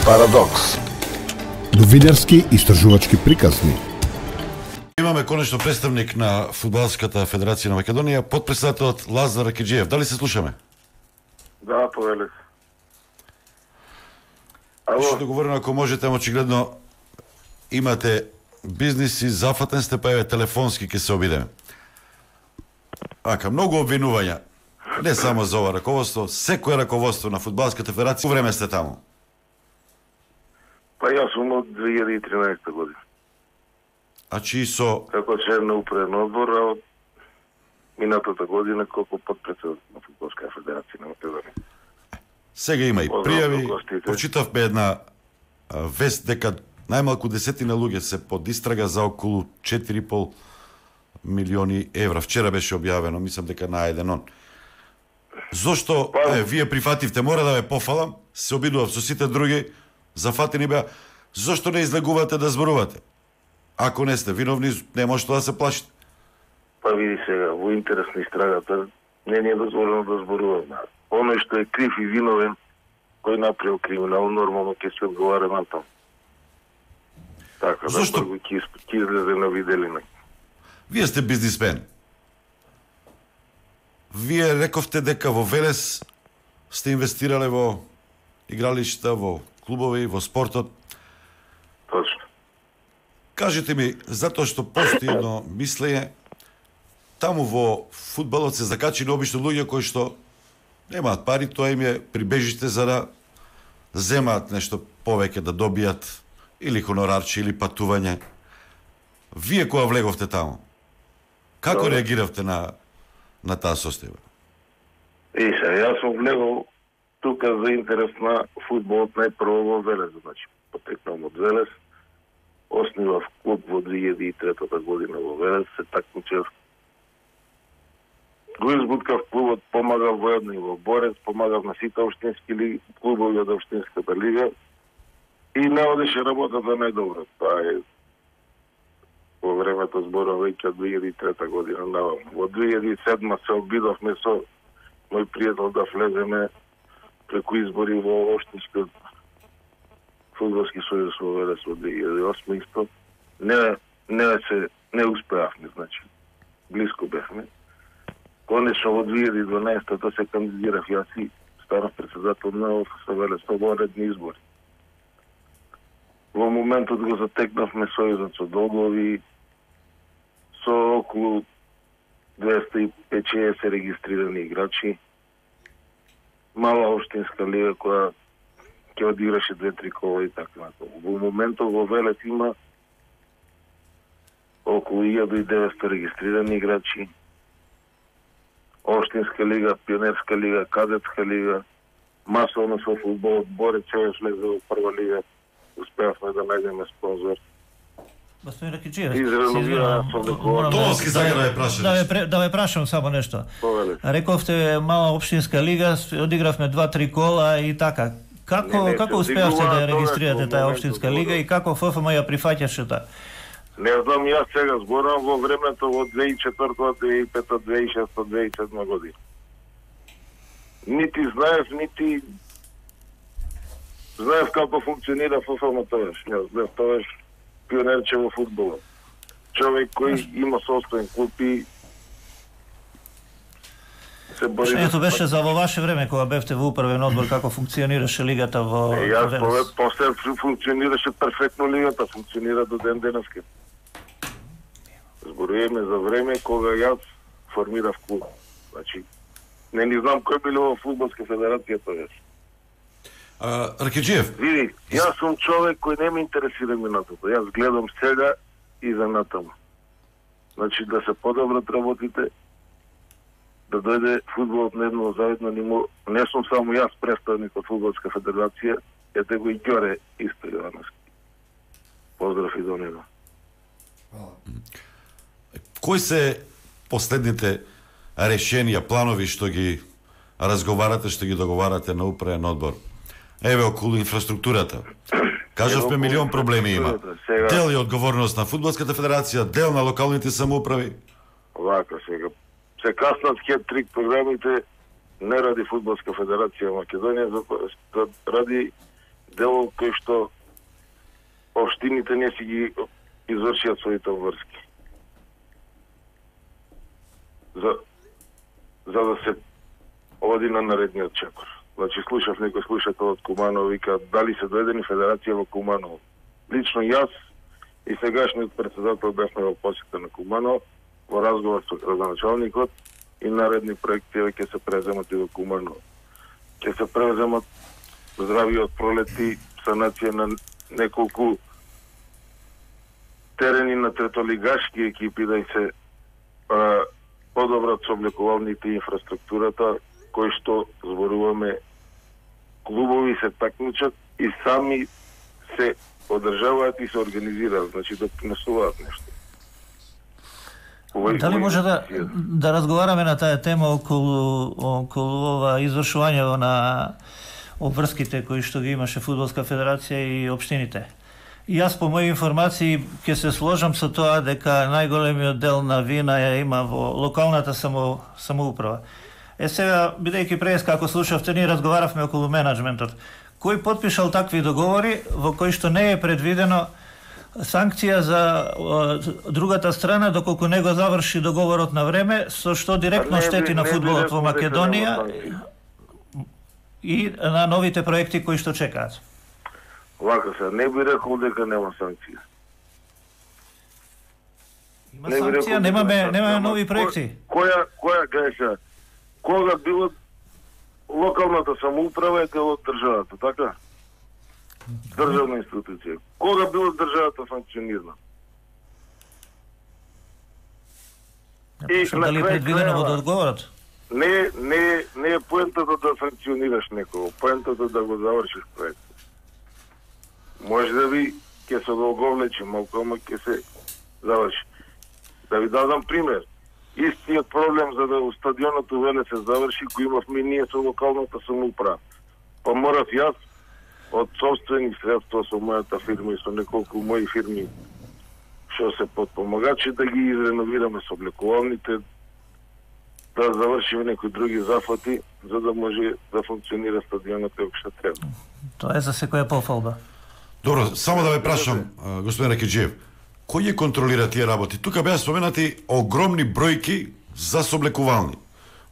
Парадокс. Новинарски истражувачки приказни. Имаме конечно представник на Фудбалската федерација на Македонија, потпредседателот Лазар Ракиџиев. Дали се слушаме? Да, повеле. Што да говорим, ако можете, очигледно имате бизниси, зафатен сте, па еве телефонски ќе се обидеме. Ака, многу обвинувања. Не само за ова раководство, секое раководство на Фудбалската федерација, време сте таму. Па јас сум од 2013 година. А чии со... Како член на управен одбор, а од минатата година како потпредседател на Фудбалска федерација на Македонија. Сега има и пријави. Прочитавме една вест дека најмалку 10 луѓе се под истрага за околу 4,5 милиони евра. Вчера беше објавено, мислам дека најден он. Зошто вие прифативте, мора да ве пофалам, се обидував со сите други, зафатени беа, зошто не излегувате да зборувате? Ако не сте виновни, не може да се плашите. Па види сега, во интерес на истрагата, не е дозволено да зборуваме. Оној што е крив и виновен, кој направил криминал, нормално ќе се одговара на тоа. Така, зошто? Да ќе излезе на виделина. Вие сте бизнисмен. Вие рековте дека во Велес сте инвестирале во игралишта, во клубови, во спортот. Точно. Кажете ми, затоа што постои едно мислење, таму во фудбалот се закачени обично луѓе кои што немаат пари, тоа им е прибежиште за да земаат нешто повеќе, да добијат или хонорарче, или патување. Вие кога влеговте таму, како реагиравте на таа состојба? Јас сум влегол тука за интерес на фудбалот најпрво во Велес, значи потекнам од Велес, основав клуб во 2003 година во Велес, се такмичев. Го избуткав клубот, помагав воедно и во Борец, помагав на сите општински клубови од општинската лига и не одеше работата најдобро. Тоа е во времето зборам веќе од 2003 година навам. Во 2007 се обидовме со мој пријател да влеземе преку избори во општинскиот фудбалски сојуз во Велес во 2008 исто. Не успеавме, значи. Блиско бевме. Конечно во 2012-та се кандидирав јас и станав председател на ОФС Велес во редни избори. Во моментот го затекнавме сојузот со долгови, со околу 250 регистрирани играчи, мала општинска лига која ќе одиграше 2-3 кола и така натаму. Во моментот во Велес има околу 1900 регистрирани играчи, општинска лига, пионерска лига, кадетска лига, масовно со фудбалот, Борец ќе влезе во прва лига, успеавме да најдеме спонзор. Господин Ракиџиев, да ве прашам само нешто. Рековте мала општинска лига, одигравме 2-3 кола и така. Како успеавте да ја регистрирате таа општинска лига и како ФФМ ја прифаќаше таа? Не знам, јас сега зборам во времето во 2004, 2005, 2006, 2007 година. Нити знаев како функционира ФФМ тогаш. Јас бев тогаш пионерче во фудбалот. Човек кој има собствен клуб и се бори... Ето беше за во ваше време, кога бевте во управен одбор, како функционираше лигата во Велес? Јас после функционираше перфектно лигата, функционира до ден денеска. Зборуваме за време кога јас формирав клуб. Значи, не знам кој било во Фудбалска федерација тогаш. Ракиџиев. Види, јас сум човек кој не ме интересира минатото. Јас гледам сега и за натаму. Значи, да се подобрат работите, да дојде фудбалот на едно заедно ниво. Не сум само јас представник од Фудбалска федерација, ете го и Ѓоре исто Јовановски. Поздрав и до него. Кои се последните решенија, планови што ги разговарате, што ги договарате на управен одбор? Еве околу инфраструктурата. Кажавме милион проблеми има. Дел е одговорност на Фудбалската федерација, дел на локалните самоуправи. Вака сега. Се каснат хет-трик програмите не ради Фудбалска федерација Македонија, ради дело кој што општините не си ги извршиат своите обврски. За да се оди на наредниот чекор. Значи, слушав некој слушател од Куманово, вика, дали се доедени федерација во Куманово. Лично јас и сегашниот председател бевме во посета на Куманово, во разговор со градоначалникот, и наредни проекти ќе се преземат и во Куманово. Ќе се преземат здрави од пролети, санација на неколку терени на третолигашки екипи, да и се подобрат сооблекувалните инфраструктурата, кои што зборуваме, клубови се такмичат и сами се одржаваат и се организираат, значи да принесуваат нешто. Дали може да разговараме на таа тема околу ова извршување на обврските кои што ги имаше Фудбалска федерација и општините? И јас по моји информации ќе се сложам со тоа дека најголемиот дел на вина ја има во локалната самоуправа. Сега, бидејќи преска, ако слушавте, ние разговаравме околу менаџментот. Кој потпишал такви договори во кои што не е предвидено санкција за другата страна доколку не го заврши договорот на време, со што директно штети на фудбалот во Македонија и на новите проекти кои што чекаат? Вака се, не би рекол дека нема санкција. Има санкција, немаме нови проекти. Која греша? Кога било локалната самоуправа е дел од државата, така? Државна институција. Кога било државата санкционирана? Дали е предвидено во договорот? Не е поентата да санкционираш некого, поентата да го завршиш проект. Може да ви ќе се долговлечи, малку ама ќе се заврши. Да ви дадам пример. Истиот проблем за да стадионот увеле се заврши, го имавме ние со локалната самоуправа. Па морав јас од собствени средства со мојата фирма и со неколку мои фирми што се подпомагачи да ги изреновираме сооблекувалните, да завршиме некои други зафати, за да може да функционира стадионот како што треба. Тоа е за секоја пофалба. Добро, само да ве прашам, господин Ракиџиев, кој ја контролира тие работи? Тука беа споменати огромни бројки за сооблекувални,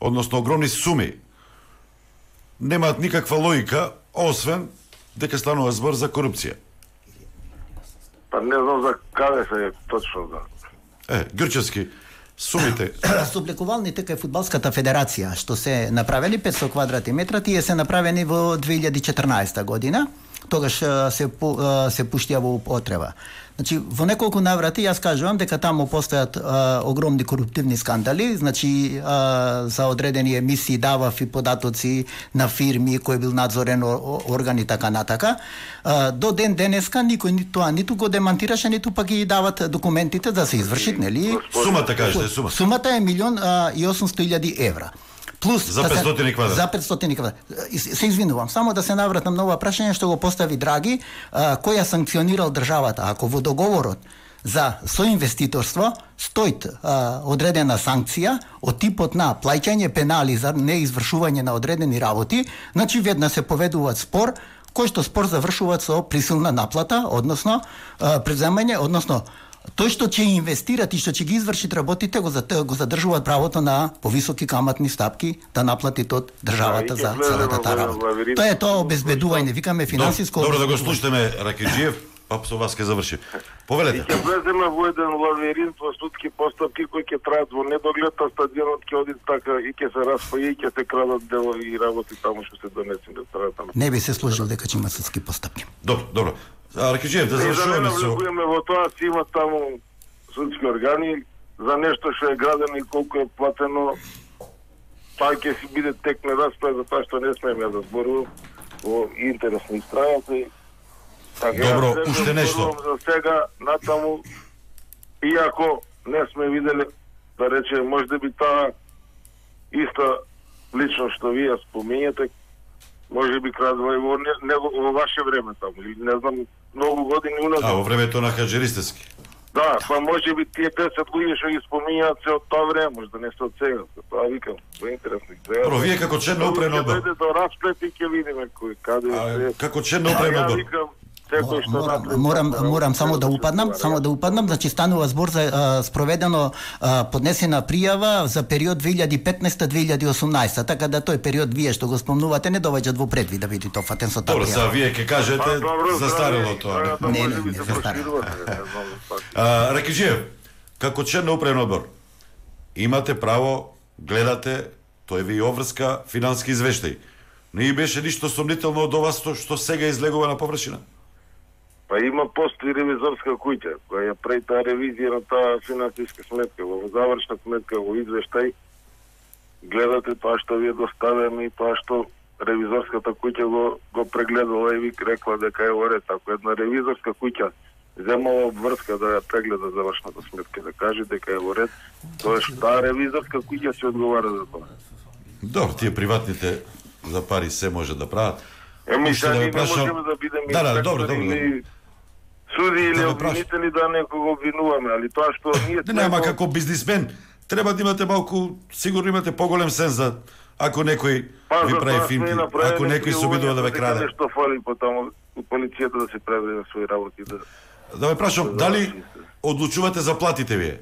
односно огромни суми. Немаат никаква логика, освен дека станува збор за корупција. Па не знам за каде се точно да. Грчевски, сумите. Сооблекувалните кај Фудбалската федерација, што се направени 500 квадратни метра, тие се направени во 2014 година. Тогаш се пуштија во употреба. Значи, во неколку наврати јас кажувам дека таму постојат огромни коруптивни скандали, значи за одредени емисии давав и податоци на фирми кој бил надзорен орган и така натака. До ден денеска никој тоа ниту го демантираше, ниту пак ги дават документите да се извршат, нели? Сумата кажете, сума. Сумата е 1.800.000 евра. Плюс за 500 квадрат. За 500 квадрат. Се извинувам, само да се навратам на ова прашање што го постави Драги, која санкционирал државата. Ако во договорот за соинвеститорство стои одредена санкција од типот на плаќање пенали за неизвршување на одредени работи, значи веднаш се поведуваат спор, кој што спор завршуваат со присилна наплата, односно преземање, односно тој што ќе инвестират и што ќе ги изврши работите го задржуваат правото на повисоки каматни стапки да наплатит од државата за целата таа работа. Тоа е тоа обезбедување, викаме финансиско. Добро да го слушнеме Ракиџиев, па со вас ќе заврши. Повелете. Ќе влеземе во еден лавиринт во судски постапки кои ќе траат во недоглед, а стадионот ќе оди така и ќе се распаја и ќе се крадат дела и работи таму што се донесени до страната. Не би се сложил дека ќе има судски постапки. Добро. Ракиџиев, да завршуваме со... Не во тоа си има таму судски органи за нешто што е градено и колку е платено, па ќе си биде тек на расправа за тоа што не смееме да зборувам во интерес на страната. Добро, уште нешто. За сега натаму, иако не сме видели, да рече, може да би таа иста лично што вие споминjate, може би крадува и во ваше време таму, или не знам, многу години уназад. Во времето на Хаџи Ристевски. Да, па може би тие 10 луѓе што ги споминјаат се од тоа време, може да не се од сега. Тоа викам, тоа е интересно. Про вие како член на управен одбор. Ќе дојде до расплет и ќе видиме кој каде се. Како член на управен одбор. Морам само да упаднам, значи станува збор за спроведено поднесена пријава за период 2015-2018, така да тој период вие што го спомнувате не доваѓа во предвид да биде тоа фатен со таа. Добро, за вие ќе кажете застарело тоа. Не, застарело. Ракиџиев, како член на управен одбор, имате право, гледате, тој ви обврска финансиски извештај. Не беше ништо сомнително од ова што сега излегува на површина? Па има постои ревизорска куќа која ја прави таа ревизија на таа финансиска сметка, во завршна сметка, во извештај гледате тоа што ви е доставено и тоа што ревизорската куќа го прегледала и ви рекла дека е во ред. Ако една ревизорска куќа земала обврска да ја прегледа завршната сметка, да каже дека е во ред, тоа што таа ревизорска куќа се одговара за тоа. Добро, тие приватните за пари се може да прават. Сега ние не можеме да бидеме добро. Суди или обвинители да некого обвинуваме, али тоа што ние нема како бизнисмен, треба да имате малку, сигурно имате поголем сенс за ако некој ви прави финти, ако некој се обидува да ве краде. Што фали потоа полицијата да се прави на своји работи да ве прашам, дали одлучувате за платите вие?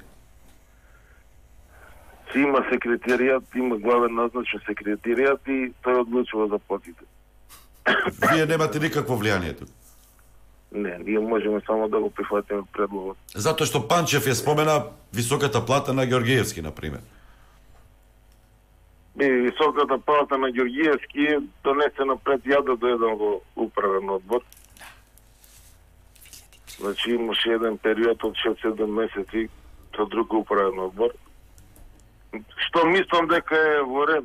Си има секретаријат, има главен назначен секретаријат и тој одлучува за платите. Вие немате никакво влијание тук? Не, ние можеме само да го прифатиме предлогот. Затоа што Панчев ја спомена високата плата на Ѓоргиевски, например. Високата плата на Ѓоргиевски е донесена пред ја да дојдам во управен одбор. Значи имаше еден период од 6-7 месеци со друг управен одбор. Што мислам дека е во ред,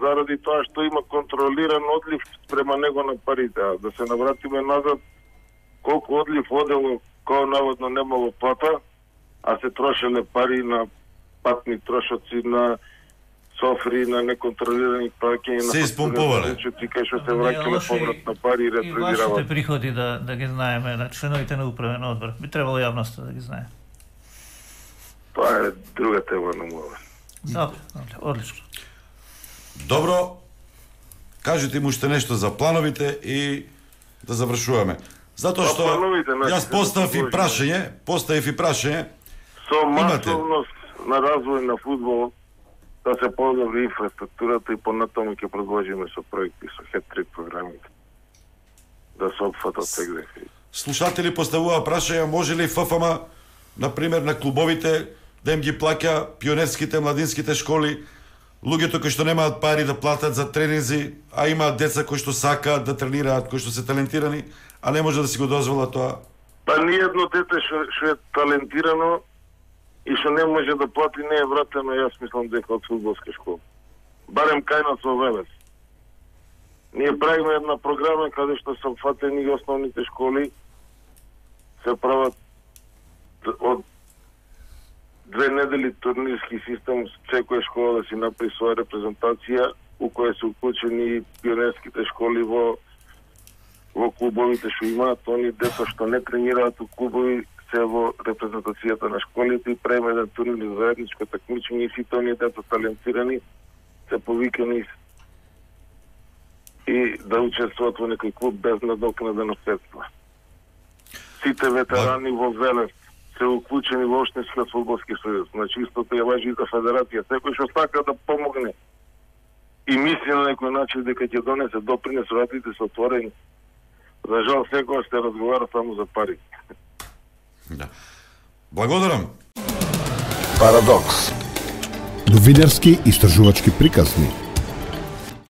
заради тоа што има контролиран одлив спрема него на парите. А да се навратиме назад, колку одлив одело, кој наводно немало плата, а се трошеле пари на патни трошоци, на софри, на неконтролирани праќања, се испомпувале. Кај што се враќале поврат на пари и ретредираваат. И вашите приходи да ги знаеме, на членовите на управен одбор. Би требало јавноста да ги знае. Тоа е друга тема на мова. Добро, одлично. Добро, кажете му уште нешто за плановите и да завршуваме. Затоа што јас поставив и прашање, со масовност на развој на фудбал да се подобри инфраструктурата и понатаму ќе продолжиме со проекти, со хет-трик програмите. Да се опфатат сегде. Слушатели поставува прашања, може ли ФФМ, например, на клубовите да им ги плаќа пионерските, младинските школи, луѓето кои што немаат пари да платат за тренинзи, а имаат деца кои што сакаат да тренираат, кои што се талентирани, а не може да си го дозвола тоа? Па ниедно дете што е талентирано и што не може да плати не е вратено, јас мислам дека од фудбалска школа. Барем кај нас во Велес. Ние правиме една програма каде што се опфатени основните школи, се прават од 2 недели турнирски систем, секоја школа да си направи своја репрезентација, у која се уклучени пионерските школи во клубовите што имаат, они деца што не тренираат у клубови се во репрезентацијата на школите и правиме еден турнир за заедничко такмичење и сите оние деца талентирани се повикани и да учествуваат во некој клуб без надокнадено средства. Сите ветерани во Велес се уклучени во Општинскиот фудбалски сојуз. Значи истото ја важи и за федерација. Секој што сака да помогне и мисли на некој начин дека ќе донесе допринес, вратите се отворени. За жал секој се разговара само за пари. Да. Благодарам. Парадокс. Новинарски истражувачки приказни.